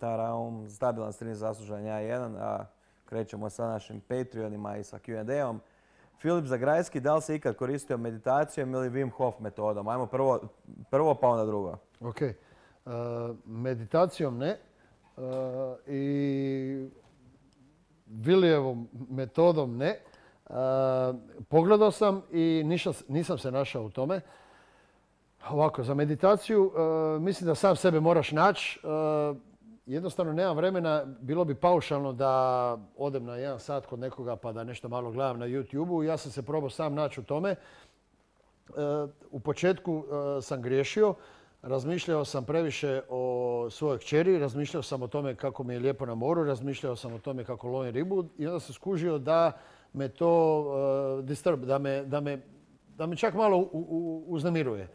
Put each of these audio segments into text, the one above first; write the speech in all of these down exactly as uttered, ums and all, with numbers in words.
Taraum, stabilan stream, zaslužan ja jedan, a krećemo sa našim Patreonima i sa Q and A-om. Filip Zagrajski, da li se ikad koristio meditacijom ili Wim Hof metodom? Ajmo prvo, prvo pa onda drugo. Ok. Uh, meditacijom ne. Uh, I Vilijevom metodom ne. Uh, pogledao sam i niša, nisam se našao u tome. Ovako, za meditaciju uh, mislim da sam sebe moraš naći. Uh, jednostavno nemam vremena, bilo bi paušalno da odem na jedan sat kod nekoga pa da nešto malo gledam na YouTube-u. Ja sam se probao sam naći u tome. Uh, u početku uh, sam griješio. Razmišljao sam previše o svojoj kćeri, razmišljao sam o tome kako mi je lijepo na moru, razmišljao sam o tome kako lovim ribu i onda sam skužio da me to uh, disturb, da me, da, me, da me čak malo u, u, uznemiruje.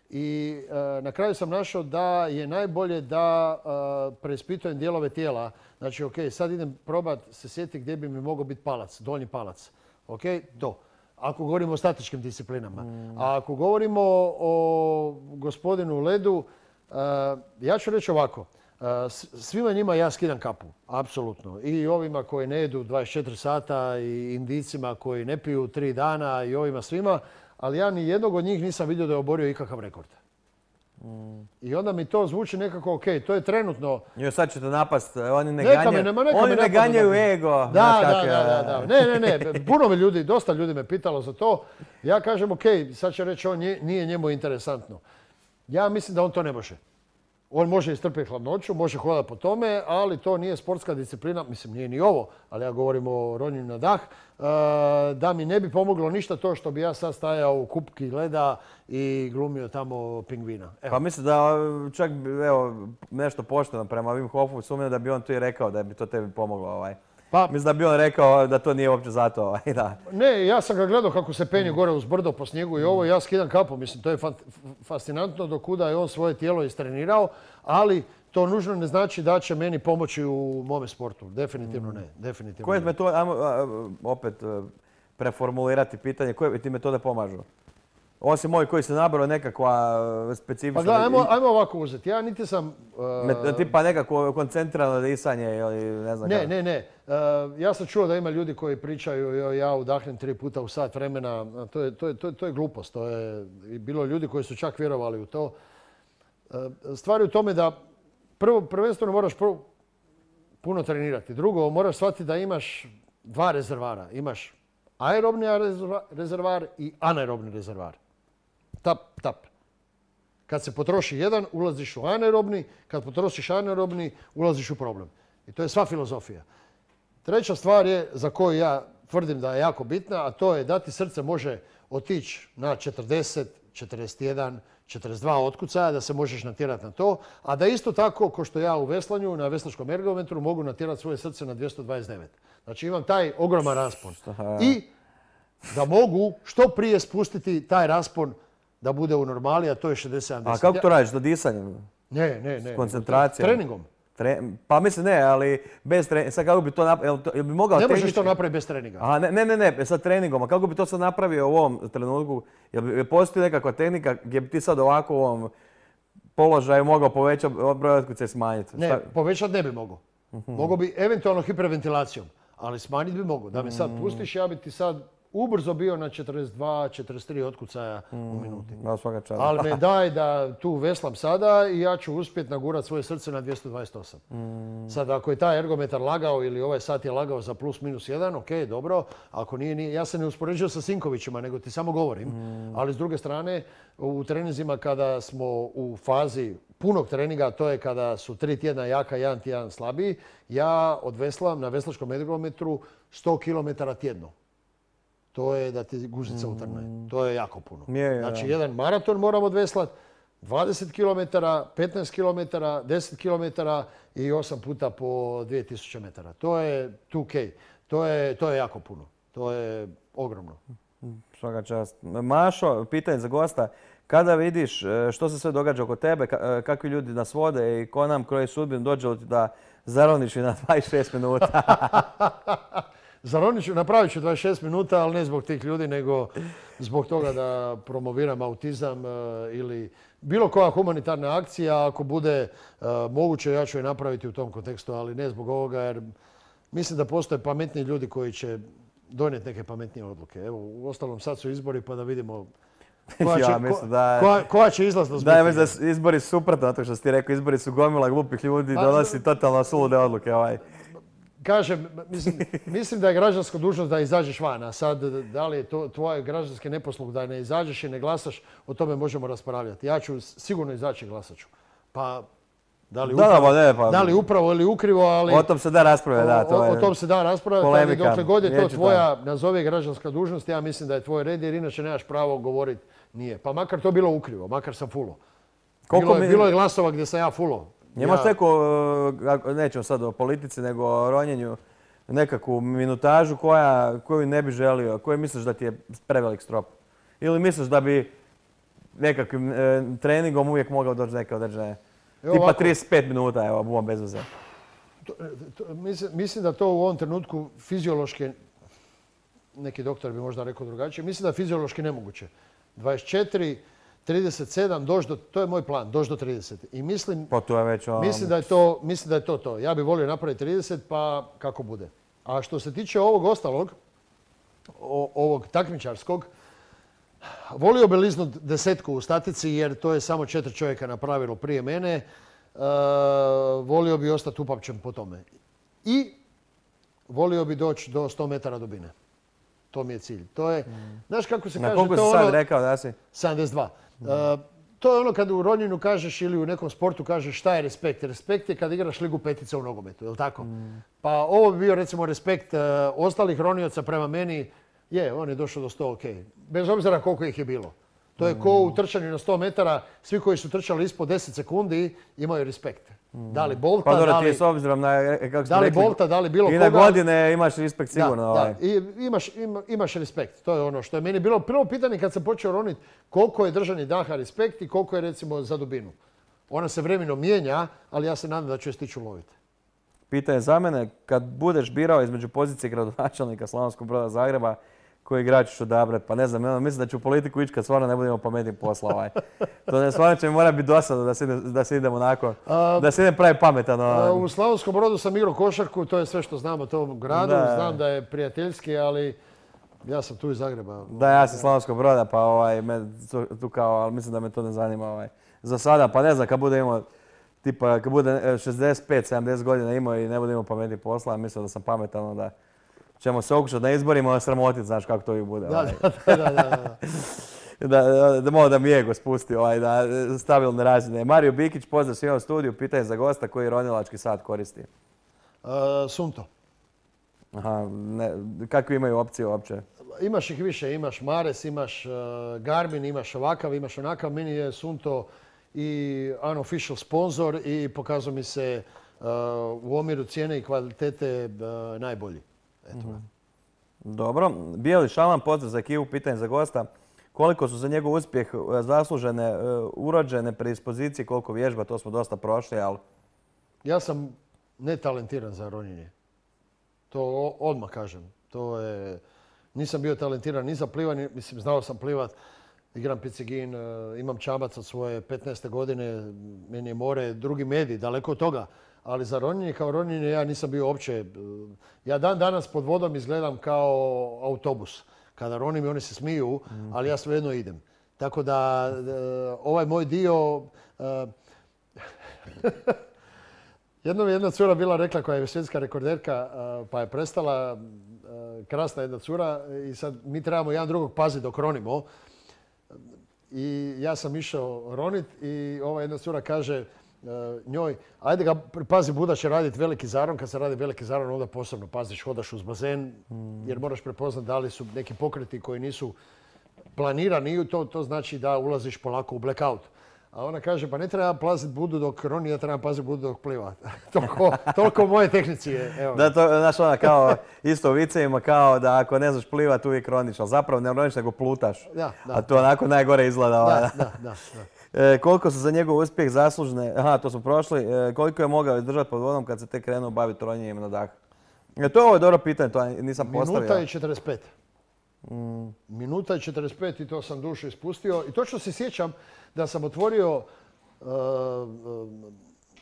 I uh, na kraju sam našao da je najbolje da uh, preispitujem dijelove tijela. Znači, ok, sad idem probat se sjetiti gdje bi mi mogao biti palac, donji palac. Ok, to. Ako govorimo o statičkim disciplinama. Mm. A ako govorimo o gospodinu Ledu, uh, ja ću reći ovako. Uh, svima njima ja skidam kapu, apsolutno. I ovima koji ne jedu dvadeset četiri sata, i Indijcima koji ne piju tri dana, i ovima svima. Ali ja ni jednog od njih nisam vidio da je oborio ikakav rekord. Mm. I onda mi to zvuči nekako ok, to je trenutno... Jo, sad ćete napast, oni ne neka ganjaju, me, nema, neka oni me ne ganjaju ego. Da, da, da, da, da. Ne, ne, ne, puno me ljudi, dosta ljudi me pitalo za to. Ja kažem ok, sad će reći on nije njemu interesantno. Ja mislim da on to ne može. On može istrpiti hladnoću, može hodati po tome, ali to nije sportska disciplina, mislim nije ni ovo, ali ja govorim o ronjenju na dah, da mi ne bi pomoglo ništa to što bi ja sad stajao u kupki leda i glumio tamo pingvina. Evo. Pa mislim da čak evo, nešto pošteno prema Wim Hofu, sumnjam da bi on tu i rekao da bi to tebi pomoglo. Ovaj. Pa, mislim da bi on rekao da to nije uopće zato. Ovaj, da. Ne, ja sam ga gledao kako se penje gore uz brdo po snijegu i ovo, ja skidam kapu. Mislim, to je fascinantno do kuda je on svoje tijelo istrenirao, ali to nužno ne znači da će meni pomoći u mome sportu. Definitivno ne. Definitivno koje ne. metode, ajmo opet preformulirati pitanje, koje ti metode pomažu? Osim moj koji se nabrao nekakva specifična... Pa gledaj, ajmo, ajmo ovako uzeti. Ja niti sam... Uh, tipa nekako koncentrirano disanje ili ne znam Ne, kako. ne, ne. Uh, ja sam čuo da ima ljudi koji pričaju jo, ja udahnem tri puta u sat vremena. To je, to je, to je, to je glupost. To je bilo ljudi koji su čak vjerovali u to. Uh, stvar je u tome da prvo, prvenstveno moraš prvo puno trenirati. Drugo, moraš shvatiti da imaš dva rezervara. Imaš aerobni rezervar i anaerobni rezervar. Tap, tap. Kad se potroši jedan, ulaziš u anaerobni. Kad potrošiš anaerobni, ulaziš u problem. I to je sva filozofija. Treća stvar je, za koju ja tvrdim da je jako bitna, a to je da ti srce može otići na četrdeset, četrdeset jedan, četrdeset dva otkucaja, da se možeš natjerati na to, a da isto tako, ko što ja u veslanju, na veslačkom ergometru, mogu natjerati svoje srce na dvjesto dvadeset devet. Znači imam taj ogroman raspon. I da mogu što prije spustiti taj raspon da bude u normali, a to je šezdeset sedamdeset. A kako to radiš? Do disanjem? Ne, ne, ne. S koncentracijom? Treningom. Tre... Pa mislim ne, ali bez treninga. Sad kako bi to napravio? Jel bi mogao ne možeš tehnički... to napraviti bez treninga. Aha, ne, ne, ne, ne, sad treningom. A kako bi to sad napravio u ovom trenutku? Jel bi postoji nekakva tehnika gdje bi ti sad ovako u ovom položaju mogao povećati broj otkucaja i smanjiti? Ne, povećati ne bi mogao. Uh-huh. Mogao bi eventualno hiperventilacijom, ali smanjiti bi mogao. Da me sad pustiš, ja bi ti sad ubrzo bio na četrdeset dva, četrdeset tri otkucaja mm, u minuti. Ali me daj da tu veslam sada i ja ću uspjeti nagurati svoje srce na dvjesto dvadeset osam. Mm. Sad ako je taj ergometar lagao ili ovaj sat je lagao za plus minus jedan, ok, dobro. Ako nije, nije, ja se ne uspoređujem sa Sinkovićima, nego ti samo govorim. Mm. Ali s druge strane, u treninzima kada smo u fazi punog treninga, to je kada su tri tjedna jaka, jedan tjedan slabiji, ja odveslam na veslačkom ergometru sto kilometara tjedno. To je da ti guzica utrne. To je jako puno. Je, je, znači, jedan maraton moram odveslati, dvadeset kilometara, petnaest kilometara, deset kilometara i osam puta po dvije tisuće metara. To je two K. To je, to je jako puno. To je ogromno. Svaka čast. Mašo, pitanje za gosta. Kada vidiš što se sve događa oko tebe, kakvi ljudi nas vode i ko nam kroji sudbinu, dođe li ti da zaroniš na dvadeset šest minuta? Zaronit ću, napravit ću dvadeset šest minuta, ali ne zbog tih ljudi, nego zbog toga da promoviram autizam ili bilo koja humanitarna akcija, ako bude uh, moguće, ja ću je napraviti u tom kontekstu, ali ne zbog ovoga, jer mislim da postoje pametniji ljudi koji će donijeti neke pametnije odluke. Evo, u ostalom sad su izbori pa da vidimo koja će, ja, mislim da, koja, koja će izlaznost da, biti. Da, mislim da su izbori suprotno, zato što si ti rekao, izbori su gomila glupih ljudi, donosi totalno sulude odluke. Ovaj. Kažem, mislim, mislim da je građanska dužnost da izađeš van, a sad da li je to tvoje građanski neposlug da ne izađeš i ne glasaš, o tome možemo raspravljati. Ja ću sigurno izaći i glasat ću. Pa, da li upravo, da, ne, pa, da li upravo ili ukrivo, ali... O tom se da raspravljati, da. To o, je o tom se da raspravljati, ali dokle god je to tvoja, nazovi građanska dužnost, ja mislim da je tvoj red, jer inače nemaš pravo govoriti nije. Pa makar to bilo ukrivo, makar sam fulo. Bilo, mi... bilo je glasova gdje sam ja fulo. Imaš ja... neku, nećemo sad o politici, nego o ronjenju, nekakvu minutažu koja, koju ne bi želio, koju misliš da ti je prevelik strop? Ili misliš da bi nekakvim e, treningom uvijek mogao doći neke određene, tipa ovako, trideset pet minuta, evo, buvom bez veze. To, to, mislim, mislim da to u ovom trenutku fiziološki, neki doktor bi možda rekao drugačije, mislim da je fiziološki nemoguće. dvadeset četiri, trideset sedam, doći do, to je moj plan, doći do trideset. I mislim, pa to je već, um... mislim, da je to, mislim da je to to. Ja bih volio napraviti trideset, pa kako bude. A što se tiče ovog ostalog, o, ovog takmičarskog, volio bi liznut desetku u statici, jer to je samo četiri čovjeka napravilo prije mene. E, volio bi ostati upamćen po tome. I volio bi doći do sto metara dubine. To mi je cilj. To je, mm. znaš kako se na kaže... Na koliko si sad ono, rekao da si? sedamdeset dva. Mm. E, to je ono kad u ronjenju kažeš ili u nekom sportu kažeš šta je respekt. Respekt je kad igraš ligu petica u nogometu, je li tako? Mm. Pa ovo bi bio recimo respekt e, ostalih ronioca prema meni. Je, on je došao do sto, ok. Bez obzira koliko ih je bilo. To je mm. ko u trčanju na sto metara. Svi koji su trčali ispod deset sekundi imaju respekt. Mm. Da li Bolta, pa, dobro, da li... ti s obzirom na, kako da li rekli, Bolta, da li bilo koga... I na godine imaš respekt sigurno. Da, ovaj. da. I imaš, ima, imaš respekt. To je ono što je meni bilo prvo pitanje kad sam počeo roniti. Koliko je držanje daha respekt i koliko je recimo za dubinu. Ona se vremenom mijenja, ali ja se nadam da ću je stići uloviti. Pitanje za mene, kad budeš birao između pozicije gradonačelnika Slavonskog Broda Zagreba, koji igrač ćeš odabrati, pa ne znam, mislim da ću u politiku ići kad stvarno ne budemo pametni posla. Ovaj. To ne, stvarno će mi mora biti dosadno da se, da se idem onako, a, da se idem pravi pametan. A, u Slavonskom Brodu sam igrao košarku, to je sve što znam o tom gradu, da. Znam da je prijateljski, ali ja sam tu iz Zagreba. Da, ja sam Slavonskog Broda, pa ovaj, me, tu, tu kao, ali mislim da me to ne zanima. Ovaj. Za sada, pa ne znam, kad bude imao, tipa, kad bude šezdeset pet sedamdeset godina imao i ne bude imao pametni posla, mislim da sam pametan, onda ćemo se okušati na izborima, sramotiti, znaš kako to i bude. Da, ovaj. da, da, da, da, da, da malo da mi ego spusti, ovaj, da stabilne razine. Mario Bikić, pozdrav svima u studiju, pitanje za gosta koji ronilački sat koristi. Uh, Sunto. Aha, ne, kakve imaju opcije uopće? Imaš ih više, imaš Mares, imaš uh, Garmin, imaš ovakav, imaš onakav. Meni je Sunto i unofficial sponsor i pokazao mi se uh, u omjeru cijene i kvalitete uh, najbolji. Eto. Mm-hmm. Dobro. Bijeli Šalan, pozdrav za ekipu, pitanje za gosta. Koliko su za njegov uspjeh zaslužene, uh, urođene predispozicije, koliko vježba, to smo dosta prošli, ali... Ja sam netalentiran za ronjenje. To odmah kažem. To je... Nisam bio talentiran ni za plivanje, mislim, znao sam plivat. Igram picigin, uh, imam čamac od svoje petnaeste godine, meni je more drugi medij, daleko od toga. Ali za ronjenje kao ronjenje ja nisam bio uopće... Ja dan danas pod vodom izgledam kao autobus. Kada ronim i oni se smiju, ali ja svejedno idem. Tako da ovaj moj dio... Jednom je jedna cura bila rekla koja je svjetska rekorderka pa je prestala, krasna jedna cura i sad mi trebamo jedan drugog paziti dok ronimo. I ja sam išao ronit i ova jedna cura kaže njoj, ajde ga pazi, Buda će raditi veliki zaron. Kad se radi veliki zaron, onda posebno paziš, hodaš uz bazen jer moraš prepoznati da li su neki pokreti koji nisu planirani. To, to znači da ulaziš polako u blackout. A ona kaže, pa ne treba paziti Budu dok roni, ja trebam paziti Budu dok pliva. toliko, toliko moje tehnici je. Evo. Da, to, znaš, ona kao isto u vicevima, kao da ako ne znaš plivat uvijek roniš, ali zapravo ne roniš nego plutaš. Da, da. A to onako najgore izgleda. Da, da, da, da. E, koliko su za njegov uspjeh zaslužne, aha, to smo prošli, e, koliko je mogao izdržati pod vodom kad se tek krenuo baviti ronjenjem na dah? E, to je ovo dobro pitanje, to nisam postavio. Minuta i četrdeset pet. Mm. Minuta i četrdeset pet i to sam dušu ispustio. I točno se sjećam da sam otvorio uh,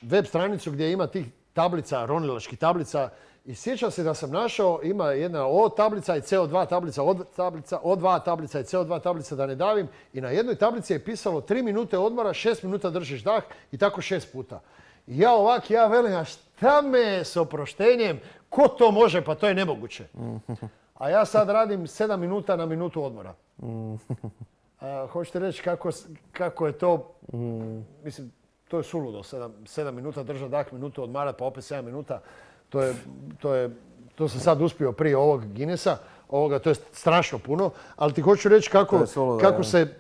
web stranicu gdje ima tih tablica, ronilačkih tablica. I sjećam se da sam našao, ima jedna O tablica i C O dva tablica, O tablica, O dva tablica i C O dva tablica, da ne davim. I na jednoj tablici je pisalo tri minute odmora, šest minuta držiš dah i tako šest puta. I ja ovak, ja velim, a šta me s oproštenjem, ko to može, pa to je nemoguće. A ja sad radim sedam minuta na minutu odmora. A, hoćete reći kako, kako je to, mislim, to je suludo, sedam minuta držati dah, minutu odmarati, pa opet sedam minuta. To, je, to, je, to sam sad uspio prije ovog Guinnessa, ovoga, to je strašno puno, ali ti hoću reći kako, suludo, kako, se,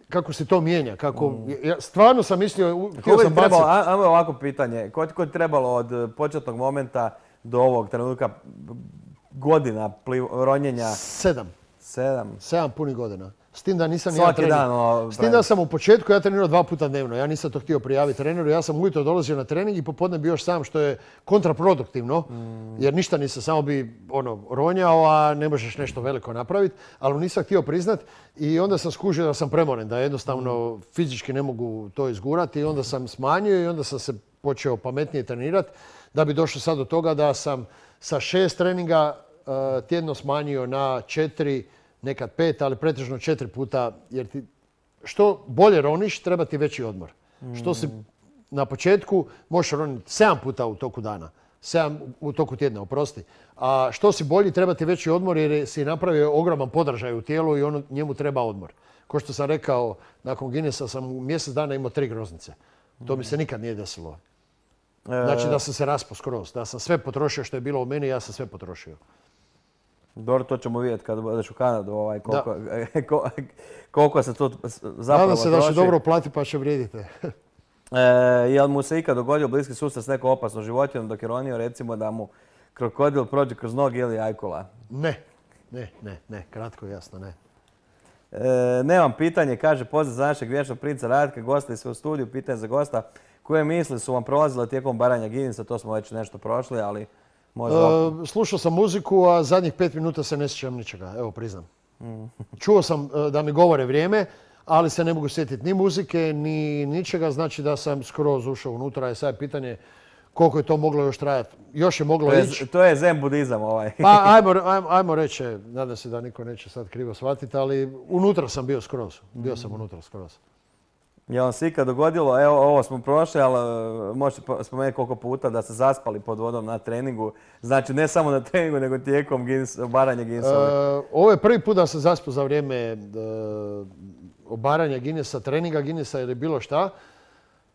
kako se to mijenja. Kako, mm. ja stvarno sam mislio, htio sam baciti. Ajmo ovako pitanje, koliko je trebalo od početnog momenta do ovog trenutka godina pliv, ronjenja? Sedam. Sedam? Sedam punih godina. S tim da nisam ja trener. Dan, o, S tim da sam u početku ja trenirao dva puta dnevno. Ja nisam to htio prijaviti treneru. Ja sam ujutro dolazio na trening i popodne bio još sam, što je kontraproduktivno. Mm. Jer ništa nisam, samo bi ono, ronjao, a ne možeš nešto veliko napraviti. Ali nisam htio priznat i onda sam skužio da sam premoren, da jednostavno mm. fizički ne mogu to izgurati. I onda sam smanjio i onda sam se počeo pametnije trenirati. Da bi došao sad do toga da sam sa šest treninga uh, tjedno smanjio na četiri, nekad pet, ali pretežno četiri puta, jer ti što bolje roniš, treba ti veći odmor. Mm. Što si na početku možeš roniti sedam puta u toku dana, sedam u toku tjedna, oprosti. A što si bolji, treba ti veći odmor jer si napravio ogroman podražaj u tijelu i ono, njemu treba odmor. Ko što sam rekao, nakon Guinnessa sam u mjesec dana imao tri groznice. To mi se nikad nije desilo. Znači da sam se raspao skroz, da sam sve potrošio što je bilo u meni, ja sam sve potrošio. Dobro, to ćemo vidjeti kad odeš u Kanadu, ovaj, koliko, koliko se to zapravo Nadam se da će dobro plati pa će vrijedite. e, jel mu se ikad dogodio bliski susret s nekom opasnom životinjom dok je ronio, recimo da mu krokodil prođe kroz noge ili ajkula? Ne, ne, ne, ne, kratko i jasno, ne. E, nemam pitanje, kaže pozdrav za našeg vječnog princa Ratka, gosta i sve u studiju, pitanje za gosta. Koje misli su vam prolazile tijekom baranja Guinnessa, to smo već nešto prošli, ali možda... E, slušao sam muziku, a zadnjih pet minuta se ne sjećam ničega, evo priznam. Mm. Čuo sam da mi govore vrijeme, ali se ne mogu sjetiti ni muzike, ni ničega, znači da sam skroz ušao unutra i sad je pitanje koliko je to moglo još trajati. Još je moglo ići. To je zen budizam ovaj. Pa ajmo, ajmo, ajmo reći, nadam se da niko neće sad krivo shvatiti, ali unutra sam bio skroz, bio sam unutra skroz. Je vam se ikad dogodilo, evo ovo smo prošli, ali možete spomenuti koliko puta da ste zaspali pod vodom na treningu. Znači ne samo na treningu, nego tijekom obaranja Guinnessa. E, ovo je prvi put da sam zaspao za vrijeme e, obaranja Guinnessa, treninga Guinnessa ili bilo šta.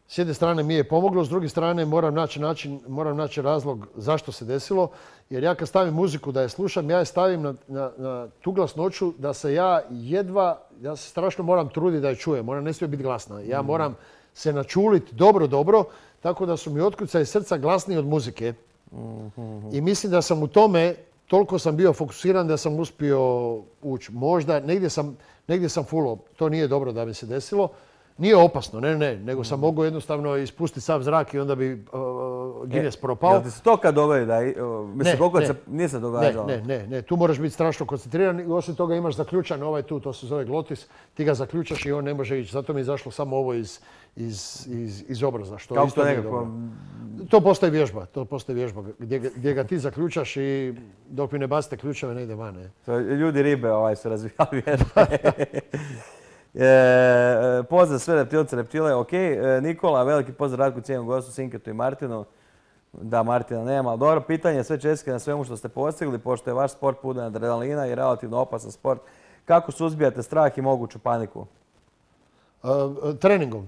S jedne strane mi je pomoglo, s druge strane moram naći način, moram naći razlog zašto se desilo. Jer ja kad stavim muziku da je slušam, ja je stavim na, na, na tu glasnoću da se ja jedva, ja se strašno moram truditi da je čujem. Ona ne smije biti glasna. Ja mm. moram se načuliti dobro, dobro, tako da su mi otkucaji srca glasniji od muzike. Mm-hmm. I mislim da sam u tome, toliko sam bio fokusiran da sam uspio ući. Možda, negdje sam, negdje sam fulao. To nije dobro da mi se desilo. Nije opasno, ne, ne, nego sam mogao jednostavno ispustiti sav zrak i onda bi uh, Guinness propao. Jel ti se to kad dogodi da, uh, mislim, koliko se nije se događalo? Ne, ne, ne, tu moraš biti strašno koncentriran i osim toga imaš zaključan ovaj tu, to se zove glotis, ti ga zaključaš i on ne može ići. Zato mi je izašlo samo ovo iz, iz, iz, iz obraza, što Kako isto to nije nekako... dobro. To postoji vježba, to postoji vježba gdje, gdje ga ti zaključaš i dok mi ne bacite ključeve ne ide van. Ne. To, ljudi ribe ovaj, su razvijali vježbe. E, pozdrav sve reptilce, reptile, ok. E, Nikola, veliki pozdrav Ratku, cijenom gostu, Sinketu i Martinu. Da, Martina nema, ali dobro pitanje, sve čestitke na svemu što ste postigli, pošto je vaš sport pun adrenalina i relativno opasan sport. Kako suzbijate strah i moguću paniku? E, treningom.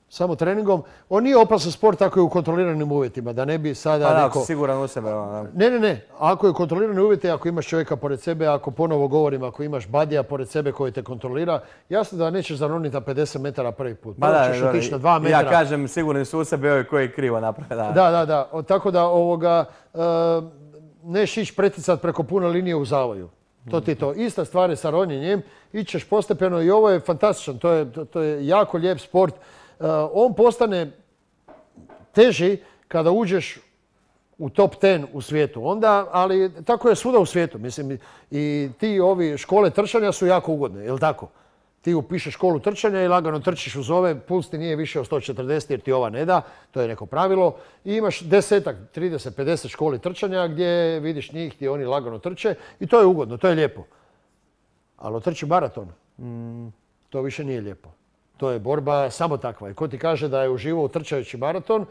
Samo treningom. On nije opasan sport ako je u kontroliranim uvjetima, da ne bi sada pa da, neko... ako si siguran u sebe. Da. Ne, ne, ne. Ako je kontrolirani uvjeti, ako imaš čovjeka pored sebe, ako ponovo govorim, ako imaš badija pored sebe koji te kontrolira, jasno da nećeš zaroniti na pedeset metara prvi put. Prvo ćeš otići na dva metra. Ja kažem sigurni su u sebe ovi koji krivo naprave. Da, da, da. da. Tako da ovoga, uh, neš ići preticat preko pune linije u zavoju. To ti je to. Ista stvar je sa ronjenjem. Ićeš postepeno i ovo je fantastičan. To je, to, to je jako lijep sport. Uh, on postane teži kada uđeš u top deset u svijetu. Onda, ali tako je svuda u svijetu. Mislim, i ti ovi škole trčanja su jako ugodne, je li tako? Ti upišeš školu trčanja i lagano trčiš uz ove, puls ti nije više od sto četrdeset jer ti ova ne da, to je neko pravilo. I imaš desetak, trideset, pedeset školi trčanja gdje vidiš njih gdje oni lagano trče i to je ugodno, to je lijepo. Ali otrči maraton, mm. to više nije lijepo. To je borba samo takva. I ko ti kaže da je uživao trčajući maraton,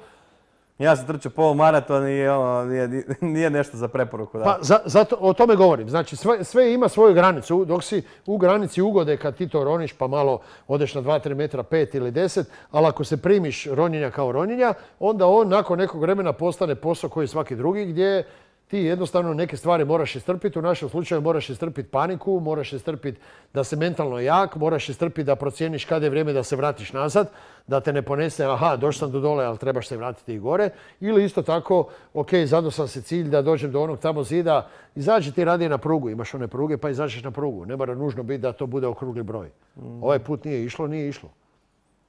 ja sam trčao pol maraton i ono, nije, nije nešto za preporuku. Da. Pa za, zato, o tome govorim. Znači sve, sve ima svoju granicu. Dok si u granici ugode kad ti to roniš pa malo odeš na dva tri metra, pet ili deset, ali ako se primiš ronjenja kao ronjenja, onda on nakon nekog vremena postane posao koji svaki drugi gdje ti jednostavno neke stvari moraš istrpiti. U našem slučaju moraš istrpiti paniku, moraš istrpiti da si mentalno jak, moraš istrpiti da procijeniš kada je vrijeme da se vratiš nazad, da te ne ponese, aha, došao sam do dole, ali trebaš se vratiti i gore. Ili isto tako, ok, zadao sam se cilj da dođem do onog tamo zida, izađi ti radije na prugu, imaš one pruge pa izađeš na prugu. Ne mora nužno biti da to bude okrugli broj. Mm. Ovaj put nije išlo, nije išlo.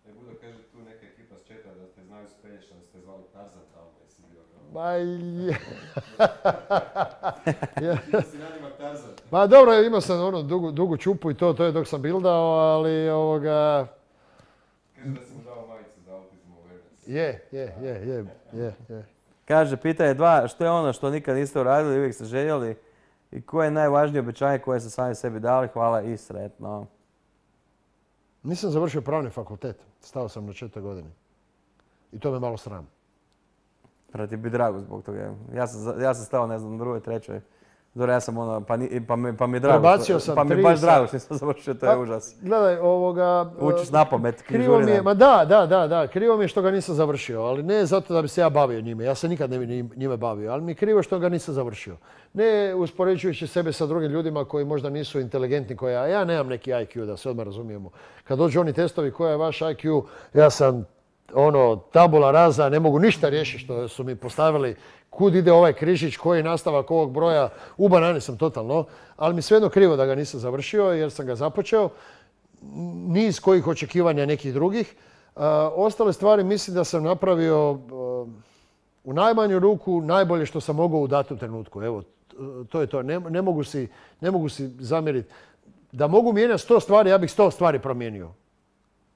Ne budu kaže tu neka ekipa s četa da ste znali spriječiti, da ste zvali Tarzan tamo, jesi bio kao... Ma je... Da si nadimak Tarzan. Pa dobro, imao sam ono dugu, dugu čupu i to, to je dok sam bildao, ali ovoga... Kaže da si mu dao majicu za Autism Awareness. Je, je, je, je, je, je. Kaže, pitanje dva, što je ono što nikad niste uradili, uvijek ste željeli i koje je najvažnije obećanje koje ste sami sebi dali? Hvala i sretno. Nisam završio pravni fakultet. Stao sam na četvrtoj godini. I to me malo sram. Prvo ti bi drago zbog toga. Ja sam, ja sam stao, ne znam, na drugoj, trećoj. Dobro, ja sam ono, pa, ni, pa, mi, pa mi je drago. Prebacio sam pa mi je tri baš sa... drago što nisam završio, to je užas. Gledaj, ovoga... Učiš na pamet. Krivo mi je, ma da, da, da, da, krivo mi je što ga nisam završio, ali ne zato da bi se ja bavio njime. Ja se nikad ne bi njime bavio, ali mi je krivo što ga nisam završio. Ne uspoređujući sebe sa drugim ljudima koji možda nisu inteligentni, koja ja nemam neki I Q, da se odmah razumijemo. Kad dođu oni testovi koja je vaš I Q, ja sam ono, tabula rasa, ne mogu ništa riješiti što su mi postavili. Kud ide ovaj križić, koji je nastavak ovog broja, u banani sam totalno, ali mi svejedno krivo da ga nisam završio jer sam ga započeo. Niz kojih očekivanja nekih drugih. Uh, ostale stvari mislim da sam napravio uh, u najmanju ruku najbolje što sam mogao u datom trenutku. Evo, to je to. Ne, ne mogu si, ne mogu si zamjeriti. Da mogu mijenjati sto stvari, ja bih sto stvari promijenio.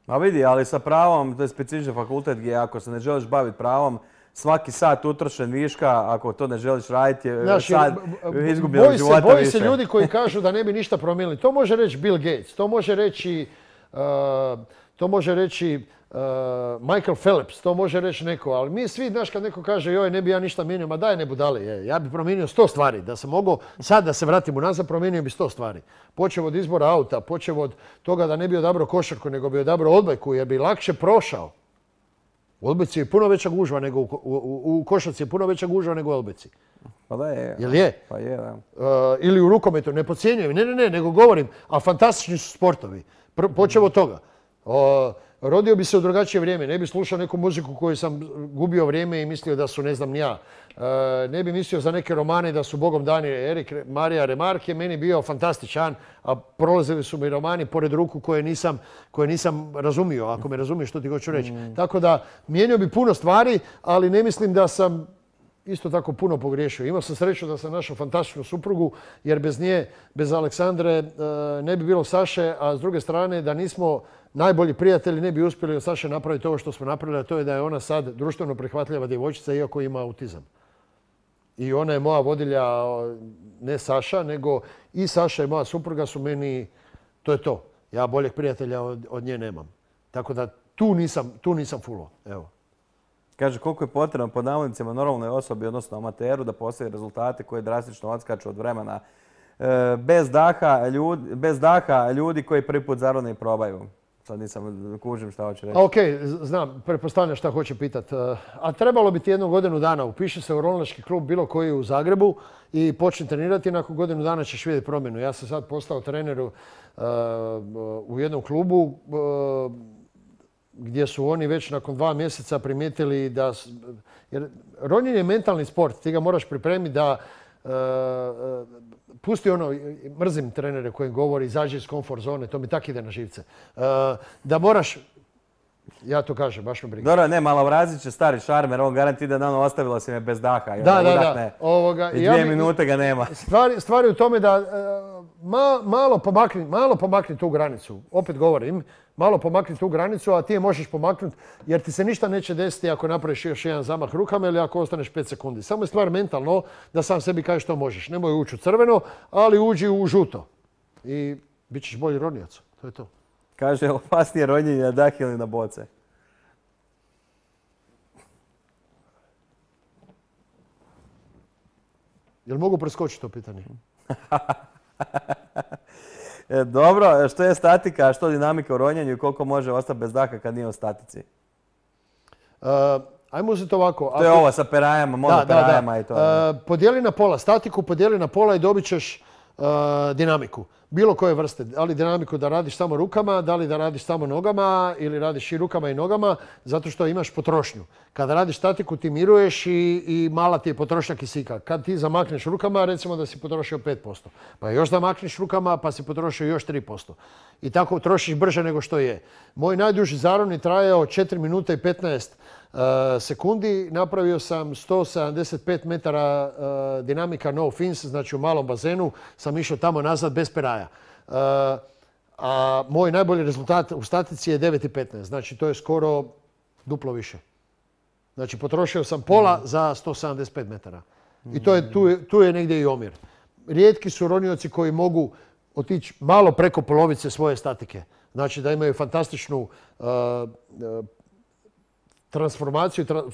Ma vidi, ali sa pravom, to je specifičan fakultet gdje ako se ne želiš baviti pravom, svaki sat utrošen viška, ako to ne želiš raditi, je Znaš, sad izgubljenog života više. Boji se ljudi koji kažu da ne bi ništa promijenili. To može reći Bill Gates, to može reći, uh, to može reći uh, Michael Phelps, to može reći neko, ali mi svi, znaš, kad neko kaže joj, ne bi ja ništa mijenio, ma daj ne budali, je, ja bi promijenio sto stvari. Da sam mogao sad da se vratim unazad, promijenio bi sto stvari. Počeo od izbora auta, počeo od toga da ne bi odabrao košarku, nego bi odabrao odbojku, jer bi lakše prošao. U odbojci je puno veća gužva nego u, u, u košarci je puno veća gužva nego u odbojci. Pa da je. Jel je? Pa je, da. Uh, ili u rukometu, ne podcjenjujem, ne, ne, ne, nego govorim, a fantastični su sportovi. Pr- počeo od toga. Uh, rodio bi se u drugačije vrijeme, ne bi slušao neku muziku koju sam gubio vrijeme i mislio da su ne znam ni ja. Uh, ne bi mislio za neke romane da su Bogom dani. Erik Marija Remarque je meni bio fantastičan, a prolazili su mi romani pored ruku koje nisam, koje nisam razumio, ako me razumiješ što ti hoću reći. Mm. Tako da mijenio bi puno stvari, ali ne mislim da sam isto tako puno pogriješio. Imao sam sreću da sam našao fantastičnu suprugu, jer bez nje, bez Aleksandre, ne bi bilo Saše, a s druge strane da nismo najbolji prijatelji ne bi uspjeli od Saše napraviti ovo što smo napravili, a to je da je ona sad društveno prihvatljiva djevojčica iako ima autizam. I ona je moja vodilja, ne Saša, nego i Saša i moja supruga su meni, to je to. Ja boljeg prijatelja od, od nje nemam. Tako da tu nisam, tu nisam fulo. Evo. Kaže, koliko je potrebno pod navodnicima normalnoj osobi, odnosno amateru, da postoje rezultate koje drastično odskaču od vremena. E, bez, daha, ljudi, bez daha ljudi koji prvi put zarone i probaju. Sad nisam kužim šta hoće reći. Ok, znam, pretpostavljam šta hoće pitat. A trebalo bi ti jednu godinu dana. Upiši se u ronilački klub bilo koji u Zagrebu i počni trenirati. Nakon godinu dana ćeš vidjeti promjenu. Ja sam sad postao trener uh, u jednom klubu uh, gdje su oni već nakon dva mjeseca primijetili da... Jer ronjenje je mentalni sport. Ti ga moraš pripremiti da... Uh, uh, pusti ono, mrzim trenere koji govori izađi iz komfort zone, to mi tak ide na živce. Uh, da moraš... Ja to kažem, baš me briga. Dobro, ne, Malavrazić je stari šarmer, on garanti da dano ostavila si me bez daha. I Da, onda da, udahne. da. Ovoga, I ja dvije bi- minute ga nema. Stvari, stvari u tome da e, ma- malo, pomakni, malo pomakni tu granicu. Opet govorim, malo pomakni tu granicu, a ti je možeš pomaknuti jer ti se ništa neće desiti ako napraviš još jedan zamah rukama ili ako ostaneš pet sekundi. Samo je stvar mentalno da sam sebi kažeš što možeš. Nemoj ući u crveno, ali uđi u žuto. I bit ćeš bolji ronjac. To je to. Kaže, opasnije ronjenje na dah ili na boce. Jel mogu preskočiti to pitanje? E, dobro, što je statika, a što dinamika u ronjenju i koliko može ostati bez daha kad nije u statici? Uh, ajmo uzeti ovako. To je Ako- ovo sa perajama, monoperajama i to. Uh, podijeli na pola statiku, podijeli na pola i dobit ćeš uh, dinamiku. Bilo koje vrste. Da li dinamiku da radiš samo rukama, da li da radiš samo nogama ili radiš i rukama i nogama, zato što imaš potrošnju. Kada radiš statiku ti miruješ i, i mala ti je potrošnja kisika. Kad ti zamakneš rukama, recimo da si potrošio pet posto. Pa još zamakneš rukama pa si potrošio još tri posto. I tako trošiš brže nego što je. Moj najduži zaron je trajao četiri minute i petnaest uh, sekundi. Napravio sam sto sedamdeset pet metara uh, dinamika no fins, znači u malom bazenu sam išao tamo nazad bez peraja. Uh, a moj najbolji rezultat u statici je devet i petnaest, znači to je skoro duplo više. Znači potrošio sam pola za sto sedamdeset pet metara. I to je, tu, je, tu je negdje i omjer. Rijetki su ronioci koji mogu otići malo preko polovice svoje statike. Znači da imaju fantastičnu uh, uh, transformaciju, tra, uh,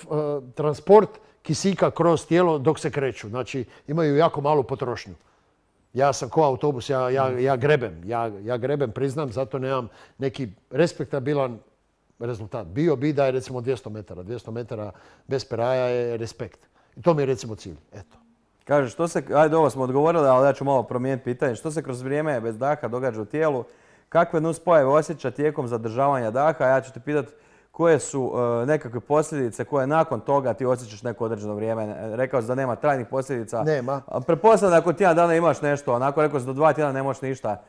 transport kisika kroz tijelo dok se kreću. Znači imaju jako malu potrošnju. Ja sam ko autobus, ja, ja, ja grebem. Ja, ja grebem, priznam, zato nemam neki respektabilan rezultat. Bio bi da je recimo dvjesto metara. dvjesto metara bez peraja je respekt. I to mi je recimo cilj. Eto. Kaže, što se, ajde ovo smo odgovorili, ali ja ću malo promijeniti pitanje. Što se kroz vrijeme bez daha događa u tijelu? Kakve nuspojave osjeća tijekom zadržavanja daha? Ja ću te pitati koje su uh, nekakve posljedice koje nakon toga ti osjećaš neko određeno vrijeme. Rekao si da nema trajnih posljedica. Nema. Pretpostavljam da nakon tjedan dana imaš nešto, onako rekao si do dva tjedana ne možeš ništa.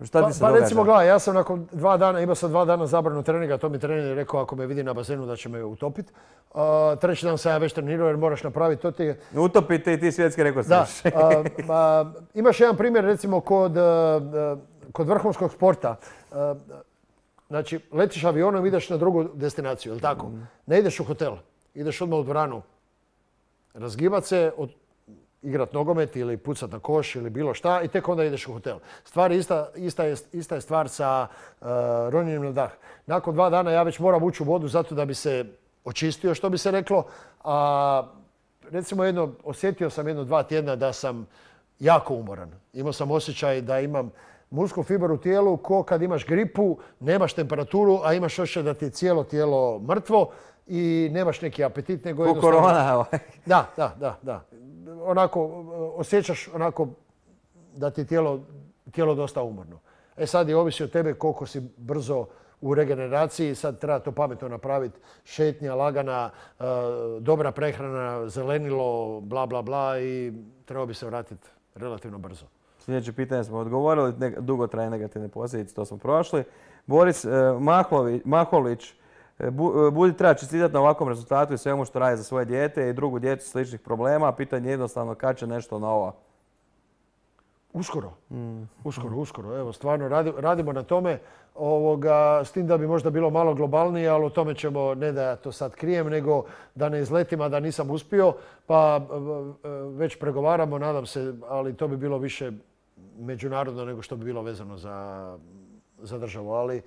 Šta Pa, ti se pa događa? recimo, gledaj, ja sam nakon dva dana, imao sam dva dana zabranu treninga, to mi trener je rekao ako me vidi na bazenu da će me utopiti. Uh, treći dan sam ja već trenirao jer moraš napraviti to ti je... Utopite i ti svjetski rekao Da, si. a, a, imaš jedan primjer recimo kod, a, kod vrhunskog sporta. A, znači, letiš avionom, ideš na drugu destinaciju, jel tako? Ne ideš u hotel, ideš odmah u dvoranu. Razgibat se, od, igrat nogomet ili pucat na koš ili bilo šta i tek onda ideš u hotel. Stvar je ista, ista, je, ista je stvar sa uh, ronjenjem na dah. Nakon dva dana ja već moram ući u vodu zato da bi se očistio, što bi se reklo. A, recimo jedno, osjetio sam jedno dva tjedna da sam jako umoran. Imao sam osjećaj da imam muskul fibar u tijelu ko kad imaš gripu, nemaš temperaturu, a imaš osjećaj da ti je cijelo tijelo mrtvo i nemaš neki apetit, nego Ko jednostavno... korona. ovaj. Da, da, da, da. Onako, osjećaš onako da ti je tijelo, tijelo dosta umorno. E sad je ovisi od tebe koliko si brzo u regeneraciji, sad treba to pametno napraviti, šetnja, lagana, e, dobra prehrana, zelenilo, bla, bla, bla i treba bi se vratiti relativno brzo. Sljedeće pitanje smo odgovorili, ne, dugotrajne negativne posljedice, to smo prošli. Boris e, Mahlović, Maholić, e, bu, e, Budi treba čestitati na ovakvom rezultatu i svemu što radi za svoje dijete i drugu djecu sličnih problema. Pitanje je jednostavno kad će nešto novo. Uskoro, mm. uskoro, uskoro. Evo, stvarno radi, radimo na tome, ovoga, s tim da bi možda bilo malo globalnije, ali o tome ćemo, ne da ja to sad krijem, nego da ne izletim, a da nisam uspio, pa već pregovaramo, nadam se, ali to bi bilo više međunarodno nego što bi bilo vezano za, za državu. Ali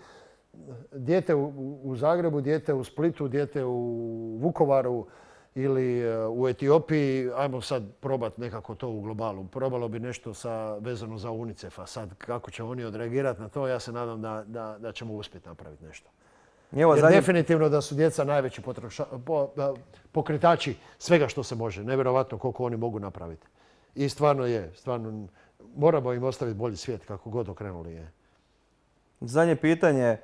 dijete u, u Zagrebu, dijete u Splitu, dijete u Vukovaru, ili u Etiopiji, ajmo sad probati nekako to u globalu. Probalo bi nešto sa, vezano za UNICEF-a. Sad kako će oni odreagirati na to, ja se nadam da, da, da ćemo uspjeti napraviti nešto. Evo, Jer zadnje... definitivno da su djeca najveći potroša, po, pokretači svega što se može. Nevjerovatno koliko oni mogu napraviti. I stvarno je, stvarno moramo im ostaviti bolji svijet kako god okrenuli je. Zadnje pitanje,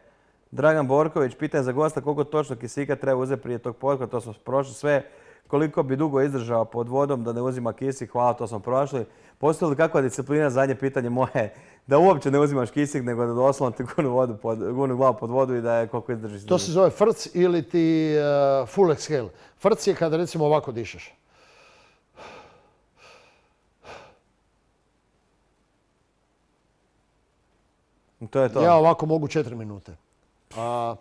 Dragan Borković, pitanje za gosta koliko točno kisika treba uzeti prije tog potka, to smo prošli sve. koliko bi dugo izdržao pod vodom da ne uzima kisik, hvala, to smo prošli. Postoji li kakva disciplina, zadnje pitanje moje, da uopće ne uzimaš kisik, nego da doslovno ti gunu, vodu pod, gunu glavu pod vodu i da je koliko izdržiš. To se zove frc ili ti uh, full exhale. Frc je kada recimo ovako dišeš. To je to. Ja ovako mogu četiri minute. A...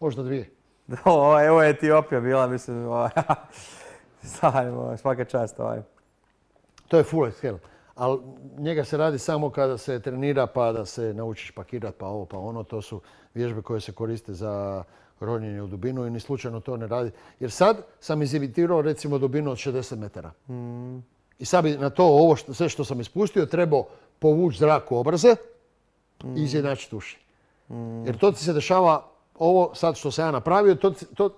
Možda dvije. O, evo je Etiopija bila, mislim, svaka čast. Ovaj. To je full exhale. Ali njega se radi samo kada se trenira pa da se naučiš pakirati pa ovo pa ono. To su vježbe koje se koriste za ronjenje u dubinu i ni slučajno to ne radi. Jer sad sam izimitirao recimo dubinu od šezdeset metara. Mm. I sad bi na to ovo što, sve što sam ispustio trebao povući zrak u obraze mm. i izjednačiti uši. Mm. Jer to ti se dešava, ovo sad što sam ja napravio, to, to,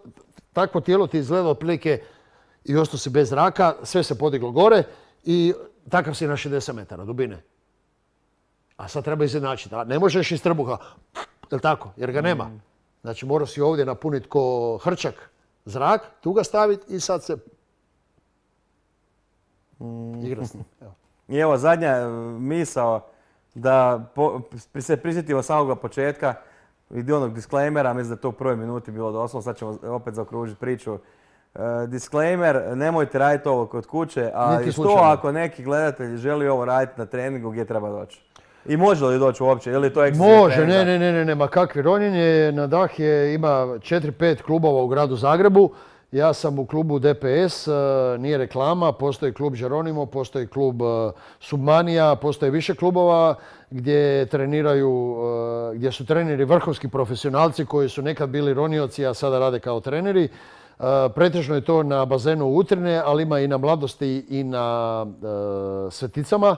takvo tijelo ti izgleda otprilike i ostao si bez zraka, sve se podiglo gore i takav si na šezdeset metara dubine. A sad treba izjednačiti. Ne možeš iz trbuha, jel tako? Jer ga nema. Mm. Znači morao si ovdje napuniti ko hrčak zrak, tu ga staviti i sad se mm. igra s njim. Evo. I evo zadnja misao da po, se prisjetimo samog početka i onog disclaimera, mislim da je to u prvoj minuti bilo doslovno, sad ćemo opet zaokružiti priču. Uh, disclaimer, nemojte raditi ovo kod kuće, a što ako neki gledatelj želi ovo raditi na treningu, gdje treba doći? I može li doći uopće? Ili to može, ne, ne, ne, ne, nema kakvi ronjenje. Na Dah je, ima četiri pet klubova u gradu Zagrebu. Ja sam u klubu D P S, nije reklama, postoji klub Geronimo, postoji klub Submanija, postoji više klubova gdje treniraju, gdje su treneri vrhunski profesionalci koji su nekad bili ronioci, a sada rade kao treneri. Pretežno je to na bazenu Utrine, ali ima i na Mladosti i na Sveticama.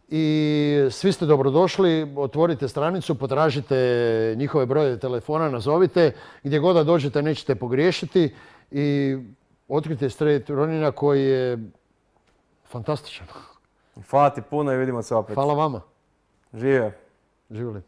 I svi ste dobrodošli, otvorite stranicu, potražite njihove brojeve telefona, nazovite. Gdje god da dođete nećete pogriješiti i otkrite straight ronjenja koji je fantastičan. Hvala ti puno i vidimo se opet. Hvala vama. Živio. Živjeli.